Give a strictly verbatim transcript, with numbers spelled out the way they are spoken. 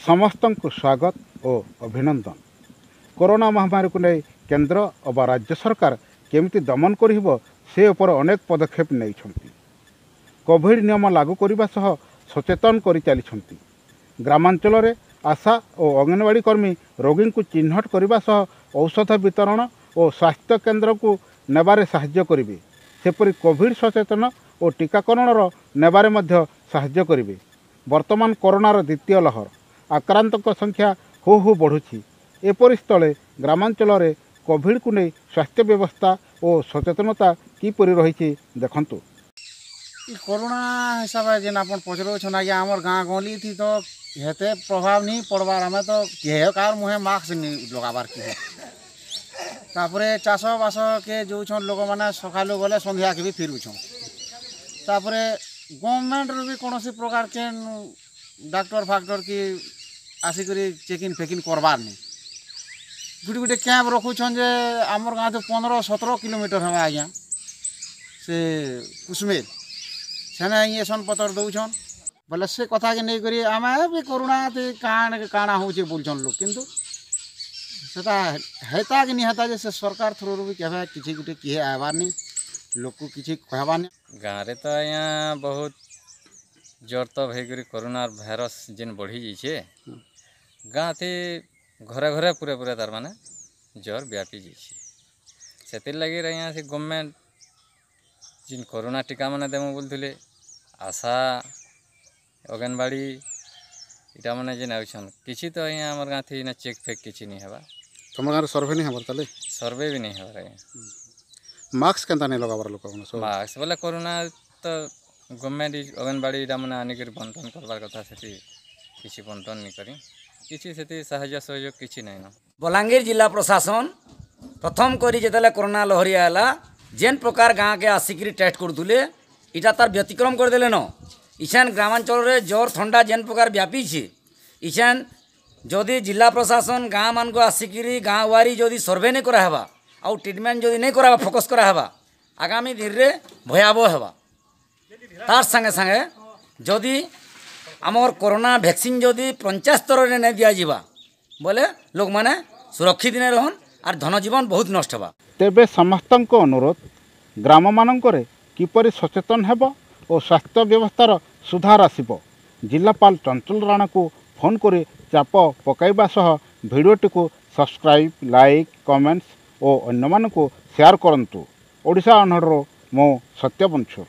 ସମସ୍ତଙ୍କୁ ସ୍ୱାଗତ ଓ ଅଭିନନ୍ଦନ। କରୋନା ମହାମାରୀକୁ ନେଇ କେନ୍ଦ୍ର ଅବା ରାଜ୍ୟ ସରକାର କେମିତି ଦମନ କରିହେବ ସେ ଉପରେ ଅନେକ ପଦକ୍ଷେପ ନେଇଛନ୍ତି। କୋଭିଡ଼ ନିୟମ ଲାଗୁ କରିବା ସହ ସଚେତନ କରି ଚାଲିଛନ୍ତି। ଗ୍ରାମାଞ୍ଚଳରେ ଆଶା ଓ ଅଙ୍ଗନବାଡ଼ି କର୍ମୀ ରୋଗୀଙ୍କୁ ଚିହ୍ନଟ କରିବା ସହ ଔଷଧ ବିତରଣ ଓ ସ୍ୱାସ୍ଥ୍ୟ କେନ୍ଦ୍ରକୁ ନେବାରେ ସାହାଯ୍ୟ କରିବେ। ସେପରି କୋଭିଡ଼ ସଚେତନ ଓ ଟୀକାକରଣର ନେବାରେ ମଧ୍ୟ ସାହାଯ୍ୟ କରିବେ। ବର୍ତ୍ତମାନ କରୋନାର ଦ୍ୱିତୀୟ ଲହର, ଆକ୍ରାନ୍ତଙ୍କ ସଂଖ୍ୟା ହୁ ହୁ ବଢ଼ୁଛି। ଏପରି ସ୍ଥଳେ ଗ୍ରାମାଞ୍ଚଳରେ କୋଭିଡ଼କୁ ନେଇ ସ୍ୱାସ୍ଥ୍ୟ ବ୍ୟବସ୍ଥା ଓ ସଚେତନତା କିପରି ରହିଛି ଦେଖନ୍ତୁ। ଇ କରୋନା ହିସାବେ ଯେନ୍ ଆପଣ ପଚରଉଛନ୍ ଆଜ୍ଞା, ଆମର୍ ଗାଁ ଗହଲି ଥି ତ ହେତେ ପ୍ରଭାବ ନି ପଡ଼ବାର୍। ଆମେ ତ କେହେ କାହାର ମୁହେଁ ମାସ୍କ ନି ଲଗାବାର୍ କେହେ। ତାପରେ ଚାଷ ବାସକେ ଯଉଛନ୍ ଲୋକମାନେ, ସକାଲୁ ଗଲେ ସନ୍ଧ୍ୟାକେ ବି ଫିରୁଛନ୍। ତାପରେ ଗଭର୍ଣ୍ଣମେଣ୍ଟରୁ ବି କୌଣସି ପ୍ରକାର କେନ୍ ଡାକ୍ତର ଫାକ୍ତର କି ଆସିକରି ଚେକିଂ ଫେକିଂ କରବାର୍ ନି। ଗୁଟେ ଗୁଟେ କ୍ୟାମ୍ପ ରଖୁଛନ୍ ଯେ ଆମର୍ ଗାଁ ତ ପନ୍ଦର ସତର କିଲୋମିଟର ହେବା ଆଜ୍ଞା ସେ କୁସୁମେଲ, ସେନେ ଇଞ୍ଜେକ୍ସନ୍ ପତର ଦଉଛନ୍ ବୋଲେ ସେ କଥାକେ ନେଇକରି ଆମେ ବି କରୁଣା କାଣା କାଣା ହଉଛେ ବୋଲୁଛନ୍ ଲୋକ୍। କିନ୍ତୁ ସେଟା ହେତା କି ନି ହେତା ଯେ ସେ ସରକାର ଥ୍ରୁରୁ ବି କେବେ କିଛି ଗୁଟେ କିଏ ଆଇବାର୍ ନି, ଲୋକକୁ କିଛି କହିବାର୍ ନି। ଗାଁରେ ତ ଆଜ୍ଞା ବହୁତ ଜର୍ ତପ୍ ହେଇକରି କରୋନା ଭାଇରସ୍ ଯେନ୍ ବଢ଼ି ଯାଇଛେ, ଗାଁଥି ଘରେ ଘରେ ପୁରା ପୁରା ତାର୍ ମାନେ ଜର୍ ବ୍ୟାପି ଯାଇଛେ। ସେଥିର୍ଲାଗି ଆଜ୍ଞା ସେ ଗଭର୍ଣ୍ଣମେଣ୍ଟ ଯେନ୍ କରୋନା ଟୀକା ମାନେ ଦେମୁ ବୋଲୁଥିଲେ, ଆଶା ଅଙ୍ଗନବାଡ଼ି ଇଟା ମାନେ ଯେନ୍ ଆଉଛନ୍, କିଛି ତ ଆଜ୍ଞା ଆମର୍ ଗାଁଥି ଇନେ ଚେକ୍ ଫେକ୍ କିଛି ନି ହେବା। ତମ ଗାଁରେ ସର୍ଭେ ନି ହେବାର ତାହେଲେ? ସର୍ଭେ ବି ନାଇଁ ହେବାର ଆଜ୍ଞା। ମାସ୍କ କେନ୍ତା ନାଇଁ ଲଗାବାର ଲୋକମାନେ ସବୁ? ମାସ୍କ ବୋଲେ କରୋନା ତ ଗଭର୍ଣ୍ଣମେଣ୍ଟ ଅଙ୍ଗନବାଡ଼ି ଇଟା ମାନେ ଆନିକରି ବଣ୍ଟନ କରବାର୍ କଥା, ସେଠି କିଛି ବଣ୍ଟନ ନି କରି, କିଛି ସେଠି ସାହାଯ୍ୟ ସହଯୋଗ କିଛି ନାଇଁନ। ବଲାଙ୍ଗୀର ଜିଲ୍ଲା ପ୍ରଶାସନ ପ୍ରଥମ କରି ଯେତେବେଳେ କରୋନା ଲହରୀ ଆଇଲା, ଯେନ୍ ପ୍ରକାର ଗାଁକେ ଆସିକିରି ଟେଷ୍ଟ କରୁଥିଲେ, ଇଟା ତାର ବ୍ୟତିକ୍ରମ କରିଦେଲେ ନ। ଇଛେନ୍ ଗ୍ରାମାଞ୍ଚଳରେ ଜ୍ୱର ଥଣ୍ଡା ଯେନ୍ ପ୍ରକାର ବ୍ୟାପିছে, ଇଛେନ୍ ଯଦି ଜିଲ୍ଲା ପ୍ରଶାସନ ଗାଁ ମାନଙ୍କୁ ଆସିକିରି ଗାଁ ୱାରି ଯଦି ସର୍ଭେ ନାଇଁ କରାହେବା ଆଉ ଟ୍ରିଟମେଣ୍ଟ ଯଦି ନାଇଁ କରାହେବା, ଫୋକସ୍ କରାହେବା, ଆଗାମୀ ଦିନରେ ଭୟାବହ ହେବା। ତାର୍ ସାଙ୍ଗେ ସାଙ୍ଗେ ଯଦି ଆମର୍ କରୋନା ଭ୍ୟାକ୍ସିନ୍ ଯଦି ପଞ୍ଚାୟତ ସ୍ତରରେ ନାଇଁ ଦିଆଯିବା ବୋଲେ ଲୋକମାନେ ସୁରକ୍ଷିତ ନାଇଁ ରହନ୍ ଆର୍ ଧନଜୀବନ ବହୁତ ନଷ୍ଟ ହେବା। ତେବେ ସମସ୍ତଙ୍କ ଅନୁରୋଧ, ଗ୍ରାମମାନଙ୍କରେ କିପରି ସଚେତନ ହେବ ଓ ସ୍ୱାସ୍ଥ୍ୟ ବ୍ୟବସ୍ଥାର ସୁଧାର ଆସିବ, ଜିଲ୍ଲାପାଳ ଚଞ୍ଚଲ ରାଣାକୁ ଫୋନ୍ କରି ଚାପ ପକାଇବା ସହ ଭିଡ଼ିଓଟିକୁ ସବସ୍କ୍ରାଇବ୍, ଲାଇକ୍, କମେଣ୍ଟସ୍ ଓ ଅନ୍ୟମାନଙ୍କୁ ସେୟାର କରନ୍ତୁ। ଓଡ଼ିଶା ଅନହଡ଼ରୁ ମୁଁ ସତ୍ୟବଂଶୁ।